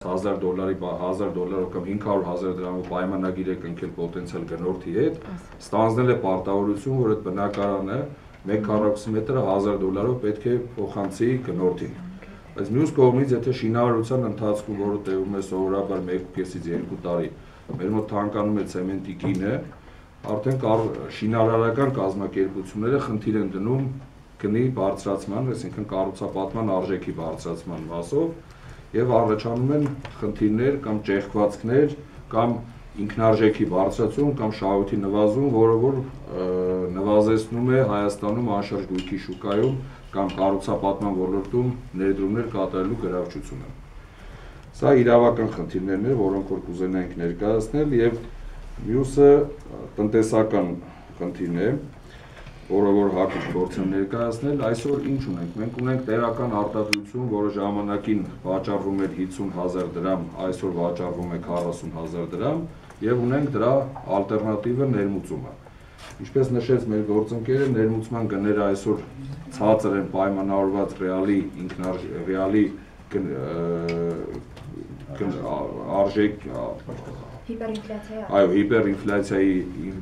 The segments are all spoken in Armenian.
$1000 կամ 500,000 դրամով պայմանագիր է կնքել պոտենցիալ գնորդի հետ, ստանձնել է պարտավորություն, որ այդ բնակարանը 1 քառակուսի մետրը $1000 պետք է փոխանցի գնորդին։ Բայց մյուս կողմից, եթե շինարարության ընթացքում, որը տևում է սովորաբար 1.5-ից 2 տարի, մեր մոտ թանկանում է ցեմենտի գինը, արդեն շինարարական կազմակերպությունները խնդիր են դնում գնի բարձրացման, այսինքն կառուցապատման արժեքի բարձրացման մասով, եւ առաջանում են խնդիրներ կամ ճեղքվածքներ կամ ինքնարժեքի բարձրացում կամ շահույթի նվազում, որը որ նվազեցնում է Հայաստանում անշարժ գույքի շուկայում կամ կառուցապատման ոլորտում ներդրումներ կատարելու գրավչությունը։ Սա իրավական խնդիրներն են, որոնք որ կուզենայինք ներկայացնել, եւ մյուսը տնտեսական խնդիրն է, որը որ հակուկ փորձ են ներկայացնել։ Այսօր ինչ ունենք։ Մենք ունենք տեղական արտադրություն, որը ժամանակին վաճառվում էր 50,000 դրամ, այսօր վաճառվում է 40,000 դրամ, եւ ունենք դրա ալտերնատիվը ներմուծումը։ Ինչպես նշեց մեր գործընկերը, ներմուծման գները այսօր ցածր են պայմանավորված ռեալի արժեք հիպերինֆլյացիայի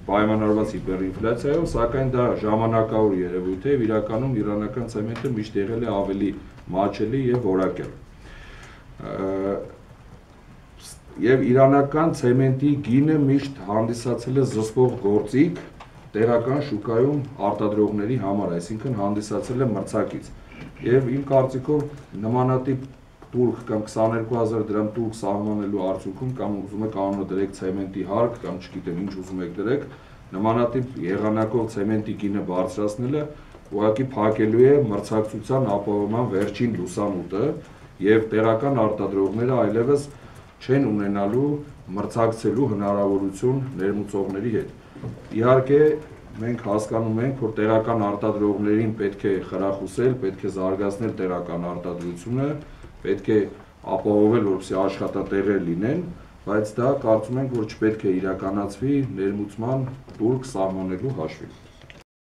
պայմանավորված հիպերինֆլյացիայով, սակայն դա ժամանակավոր երևույթ է, իրականում իրանական ցեմենտը միշտ եղել է ավելի մատչելի եւ որակյալ։ Եվ իրանական ցեմենտի գինը միշտ հանդիսացել է զսպող գործիք տեղական շուկայում արտադրողների համար, այսինքն հանդիսացել է մրցակից։ Եվ իմ կարծիքով նմանատիպ տուրք կամ 22,000 դրամ տուրք սահմանելու արդյունքում կամ ուզում եք անունը դրեք ցեմենտի հարկ կամ չգիտեմ ինչ ուզում եք դրեք, նմանատիպ եղանակով ցեմենտի գինը բարձրացնելը ուղղակի փակելու է մրցակցության ապահովման վերջին լուսամուտը եւ տեղական արտադրողները այլևս չեն ունենալու մրցակցելու հնարավորություն ներմուծողների հետ։ Իհարկե մենք հասկանում ենք, որ տեղական արտադրողներին պետք է խրախուսել, պետք է զարգացնել տեղական արտադրությունը, պետք է ապահովել, որպեսզի աշխատատեղեր լինեն, բայց դա կարծում ենք, որ չպետք է իրականացվի ներմուծման տուրք սահմանելու հաշվին։